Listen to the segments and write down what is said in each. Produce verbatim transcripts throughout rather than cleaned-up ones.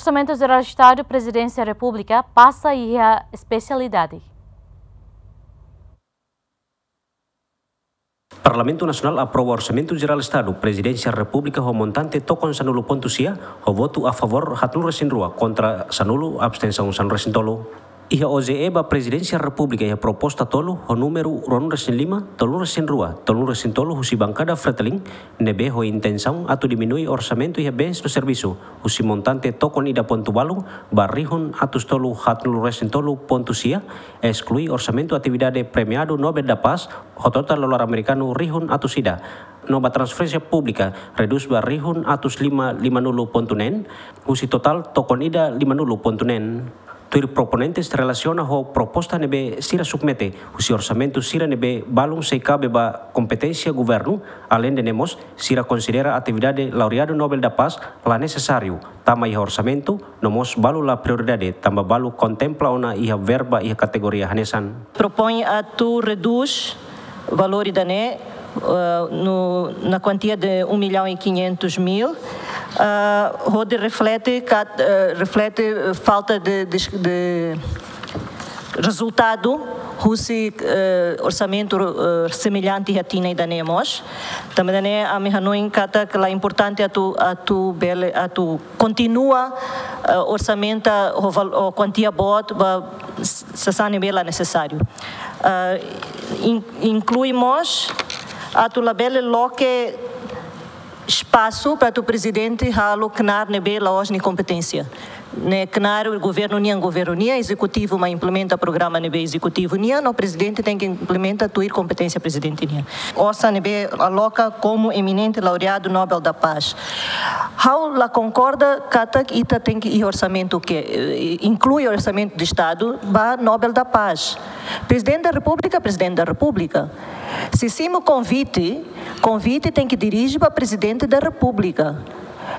Orsamentu Jerál Estadu Prezidénsia Repúblika pasa iha espesialidade. Parlamentu Nasionál aprova Orsamentu Jerál Estadu Prezidénsia Repúblika ho montante tokon sanulu pontu sia, ho votu a favór haatnulu-resin-rua, kontra sanulu, abstensaun sanulu-resin-tolu. Iha O J E ba Prezidénsia Repúblika iha proposta tolu ho númeru ruanulu-resin-lima, tolunulu-resin-rua, tolunulu-resin-tolu husi bankada Fretilin, ne'ebé ho intensaun atu diminui orsamentu iha bens no servisu, husi montante tokon ida pontu balu ba rihun atus tolu haatnulu-resin-tolu pontu sia, esklui orsamentu atividade Premiadu Nobel da Paz, ho totál dolar amerikanu rihun atus ida. No ba transferénsia públika, redús ba rihun atus lima limanulu pontu neen, husi totál tokon ida limanulu pontu neen. Tuir proponentes relasiona ho proposta ne'ebé sira submete, husi orsamentu sira ne'ebé balun sei kabe ba kompeténsia governu, aleinde ne'e mós, sira konsidera atividade laureadu Nobel da Paz la nesesáriu tama iha orsamentu, no mós balu la prioridade, tanba balu kontempla ona iha verba iha kategoria hanesan. Propoin atu redús valór ida-ne'e, eh, no, na kuantia de um milhão e quinhentos mil, eh, hodi reflete kat-, eh, reflete falta de, de, de rezultadu husi, eh, orsamentu, eh, semellante iha tinan ida-ne'e mós. Tanba ne'e ami hanoin katak la importante atu, atu bele, atu kontinua, eh, orsamentu ho val-, ho kuantia boot ba s-, sasán ne'ebé la nesesáriu. Eh, in-, inklui mós atu labele loke espasu para atu prezidente halo knaar ne'ebé la'ós nia kompeténsia. Ne'e knaar governu nian, governu nian, ezekutivu mak implementa programa ne'ebé ezekutivu nian, no prezidente tenke implementa tuir kompeténsia prezidente nian. Osan ne'ebé aloka komu eminente laureadu Nobel da Paz. Ha'u la konkorda katak ita tenke iha orsamentu ke, eh, inklui orsamentu de Estadu ba Nobel da Paz. Prezidente da Repúblika, Prezidente da Repúblika. Se simu konvite, konvite tenke dirije ba Prezidente da Repúblika.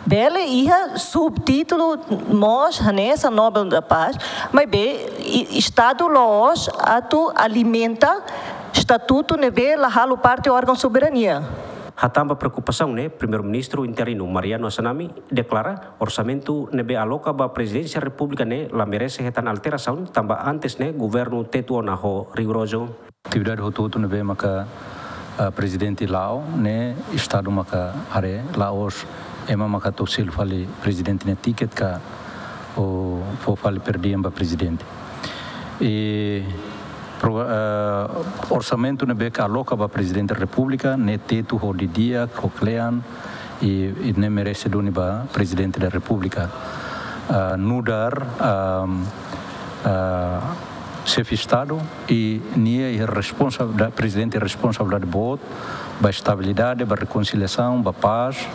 Bele iha subtítulu mós hanesan Nobel da Paz, maibé i-, Estadu la'ós atu alimenta estatutu ne'ebé la halo parte órgaun soberania. Hatán ba preokupasaun ne'e, Primeiru-Ministru interinu Mariano Assanami deklara orsamentu ne'ebé aloka ba Prezidénsia Repúblika ne'e la merese hetan alterasaun, tanba antes ne'e governu tetu ona ho rigurozu. Atividade hotu-hotu ne'ebé maka, ah, prezidente la'o ne'e Estadu maka haree, la'ós ema maka atu selu fali prezidente nia tiket ka, ou fó fali per diem ba prezidente. I pro-, ah, orsamentu ne'ebé ke aloka ba Prezidente Repúblika ne'e tetu ho di'ak, ho kle'an, i, i ne'e merese duni ba Prezidente da Repúblika. Ah, nu'udar, ah, ah, Xefe Estadu, i nia iha responsa-, da-, prezidente responsabilidade boot ba estabilidade, ba rekonsiliasaun, ba pás,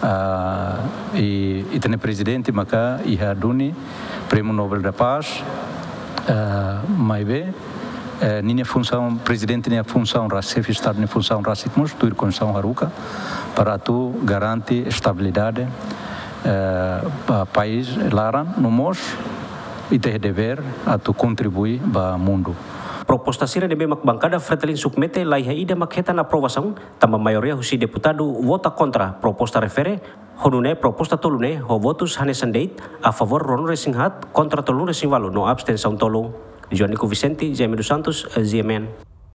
ah, i, i ita-nia prezidente maka iha duni Prémiu Nobel da Paz, ah, maibé, eh, ninia funsaun, prezidente nia funsaun rasik, Xefe Estadu nia funsaun rasik mós tuir Konstituisaun haruka, para atu garante estabilidade, eh, ba país laran, no mós ita iha devér atu kontribui ba mundu. Proposta sira ne'ebé mak bankada Fretilin submete laiha ida mak hetan aprovasaun, tanba maioria husi deputadu vota kontra proposta refere, ho nune'e proposta tolu ne'e ho votus hanesan de'it, a favór ruanulu-resin-haat, kontra tolunulu-resin-ualu no abstensaun tolu. Joanico Vicente, Jaime dos Santos, G M N.